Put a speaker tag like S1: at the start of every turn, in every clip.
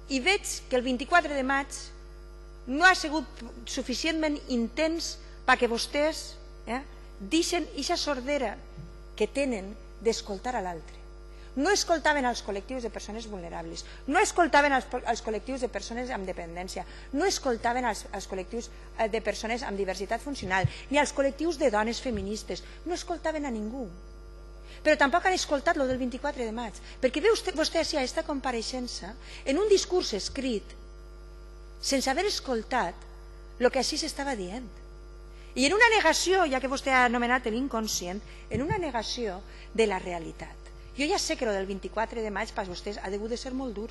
S1: i veig que el 24 de maig no ha sigut suficientment intens perquè vostès deixen aquesta sordera que tenen d'escoltar a l'altre. No escoltaven els col·lectius de persones vulnerables, no escoltaven els col·lectius de persones amb dependència, no escoltaven els col·lectius de persones amb diversitat funcional, ni els col·lectius de dones feministes, no escoltaven a ningú. Però tampoc han escoltat el del 24 de maig, perquè ve vostè a aquesta compareixença en un discurs escrit sense haver escoltat el que així s'estava dient. I en una negació, ja que vostè ha anomenat l'inconscient, en una negació de la realitat. Jo ja sé que el del 24 de maig per vostès ha degut de ser molt dur,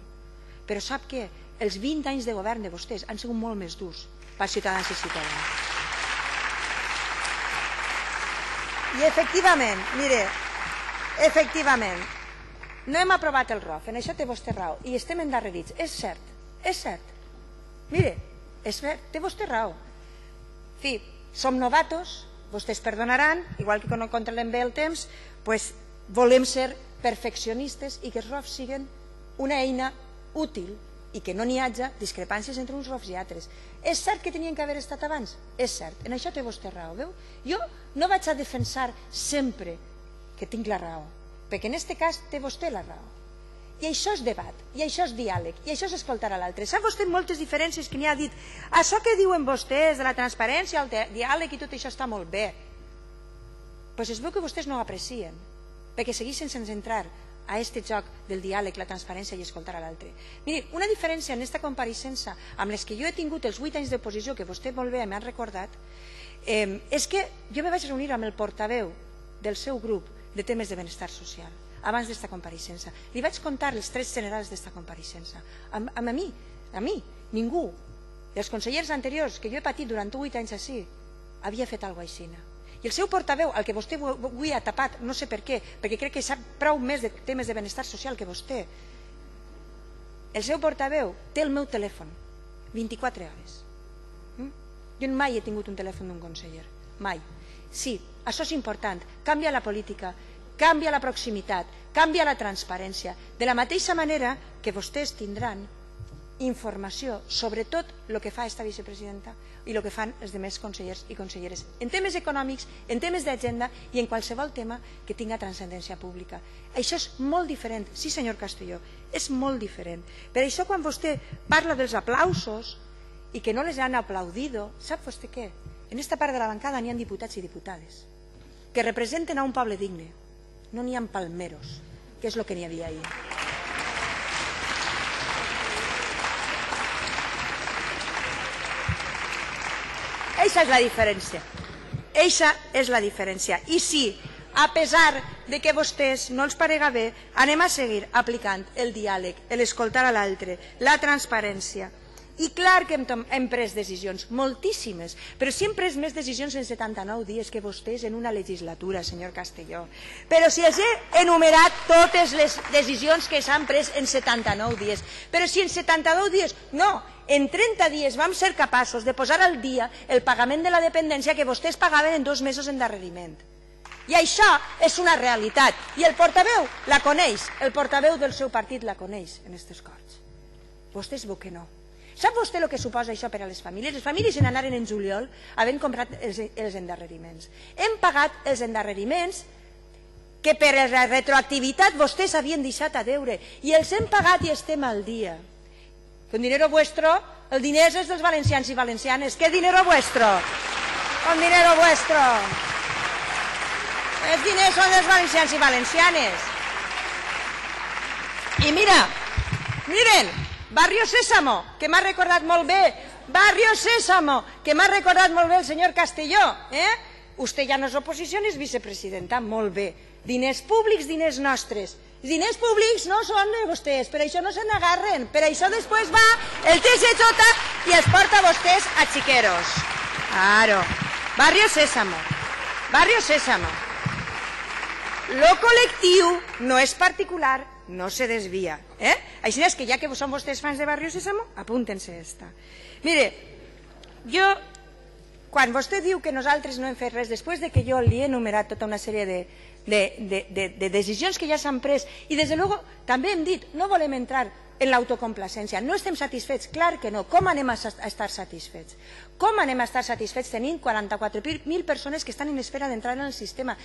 S1: però sap que els 20 anys de govern de vostès han sigut molt més durs pels ciutadans i ciutadanes. I efectivament, mire, efectivament, no hem aprovat el ROF, en això té vostè raó, i estem endarrerits, és cert, és cert. Mire, és cert, té vostè raó. En fi, som novatos, vostès perdonaran, igual que no controlem bé el temps, doncs volem ser perfeccionistes i que els ROFs siguin una eina útil i que no n'hi hagi discrepàncies entre uns ROFs i altres. És cert que tenien que haver estat abans? És cert, en això té vostè raó, veu? Jo no vaig a defensar sempre que tinc la raó, perquè en aquest cas té vostè la raó. I això és debat, i això és diàleg, i això és escoltar a l'altre. Sap vostè moltes diferències que n'hi ha dit? Això que diuen vostès de la transparència, el diàleg i tot això està molt bé. Doncs es veu que vostès no ho aprecien, perquè segueixen sense entrar a aquest joc del diàleg, la transparència i escoltar a l'altre. Miri, una diferència en aquesta compareixença amb les que jo he tingut els 8 anys d'oposició, que vostè molt bé m'ha recordat, és que jo me vaig reunir amb el portaveu del seu grup de temes de benestar social abans d'esta compareixença. Li vaig contar els trets generals d'esta compareixença. A mi, ningú dels consellers anteriors que jo he patit durant 8 anys així havia fet alguna cosa així. I el seu portaveu, el que vostè avui ha tapat, no sé per què, perquè crec que sap prou més de temes de benestar social que vostè, el seu portaveu té el meu telèfon 24 hores. Jo mai he tingut un telèfon d'un conseller, mai. Sí, això és important, canvia la política, canvia la proximitat, canvia la transparència, de la mateixa manera que vostès tindran informació sobre tot el que fa aquesta vicepresidenta i el que fan els altres consellers i conselleres en temes econòmics, en temes d'agenda i en qualsevol tema que tinga transcendència pública. Això és molt diferent, sí senyor Castelló, és molt diferent. Per això quan vostè parla dels aplausos i que no les han aplaudido, sap vostè què? En esta part de la bancada n'hi ha diputats i diputades que representen a un poble digne, no n'hi ha palmeros, que és el que n'hi havia ahir. Eixa és la diferència. Eixa és la diferència. I sí, a pesar de que a vostès no els parega bé, anem a seguir aplicant el diàleg, l'escoltar a l'altre, la transparència. I clar que hem pres decisions, moltíssimes, però si hem pres més decisions en 79 dies que vostès en una legislatura, senyor Castelló. Però si els he enumerat totes les decisions que s'han pres en 79 dies. Però si en 72 dies, no, en 30 dies vam ser capaços de posar al dia el pagament de la dependència que vostès pagaven en 2 mesos d'endarreriment. I això és una realitat. I el portaveu la coneix, el portaveu del seu partit la coneix en aquestes corts. Vostès veu que no. Sap vostè el que suposa això per a les famílies? Les famílies se n'anaren en juliol havent comprat els endarreriments. Hem pagat els endarreriments que per la retroactivitat vostès havien deixat a deure i els hem pagat i estem al dia. Con dinero vuestro, el diner és dels valencians i valencianes. ¿Qué dinero vuestro? Con dinero vuestro. Els diners són dels valencians i valencianes. I mira, miren, Barrio Sésamo, que m'ha recordat molt bé, Barrio Sésamo, que m'ha recordat molt bé el senyor Castelló. Vostè ja no és oposició ni és vicepresidenta, molt bé. Diners públics, diners nostres. Els diners públics no són de vostès, per això no se n'agarren, per això després va el TSJ i els porta vostès a xiqueros. Claro, Barrio Sésamo, Barrio Sésamo. Lo col·lectiu no és particular, no se desvia. Així és que ja que són vostès fans de Barrio Sésamo, apúntense esta. Mire, jo, quan vostè diu que nosaltres no hem fet res, després de que jo li he enumerat tota una sèrie de decisions que ja s'han pres, i des de luego també hem dit, no volem entrar en l'autocomplacència. No estem satisfets? Clar que no. Com anem a estar satisfets? Com anem a estar satisfets tenint 44.000 persones que estan en espera d'entrar en el sistema,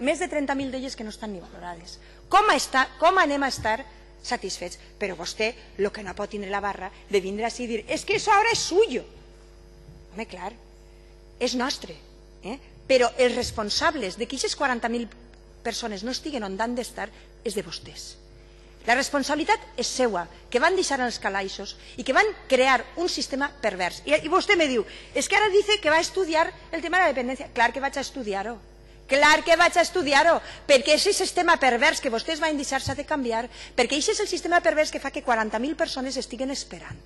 S1: més de 30.000 d'elles que no estan ni valorades? Com anem a estar satisfets? Però vostè el que no pot tindre la barra de vindre així i dir és que això ara és suyo. Home, clar, és nostre, però els responsables de que aquestes 40.000 persones no estiguen on han d'estar és de vostès. La responsabilitat és seua, que van deixar els calaixos i que van crear un sistema pervers. I vostè me diu, és que ara dice que va estudiar el tema de la dependència. Clar que vaig a estudiar-ho. Clar que vaig a estudiar-ho, perquè aquest sistema pervers que vostès van deixar s'ha de canviar, perquè aquest és el sistema pervers que fa que 40.000 persones estiguen esperant,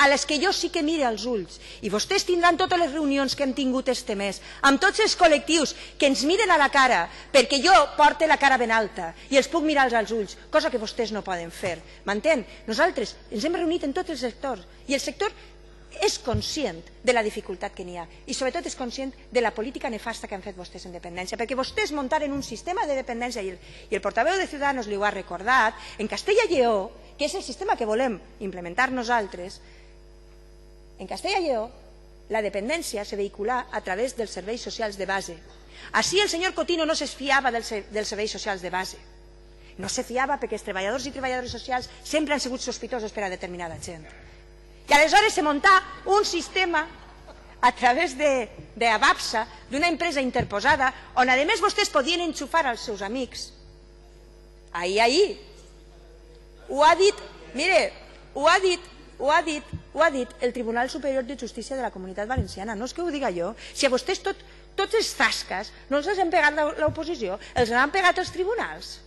S1: a les que jo sí que mire als ulls, i vostès tindran totes les reunions que hem tingut este mes, amb tots els col·lectius que ens miren a la cara, perquè jo porte la cara ben alta i els puc mirar als ulls, cosa que vostès no poden fer. M'entén? Nosaltres ens hem reunit en tots els sectors, i el sector és conscient de la dificultat que n'hi ha i sobretot és conscient de la política nefasta que han fet vostès en dependència, perquè vostès muntaren un sistema de dependència i el portaveu de Ciudadanos li ho ha recordat, en Castella i Lleó, que és el sistema que volem implementar nosaltres, en Castella i Lleó la dependència se vehicula a través dels serveis socials de base. Així el senyor Cotino no se fiava dels serveis socials de base, no se fiava perquè els treballadors i treballadores socials sempre han sigut sospitosos per a determinada gent. I aleshores se munta un sistema a través d'Avapsa, d'una empresa interposada, on a més vostès podien enxufar als seus amics. Ahir. Ho ha dit, mire, ho ha dit el Tribunal Superior de Justícia de la Comunitat Valenciana, no és que ho diga jo. Si a vostès tots els zascas no els han pegat l'oposició, els han pegat els tribunals.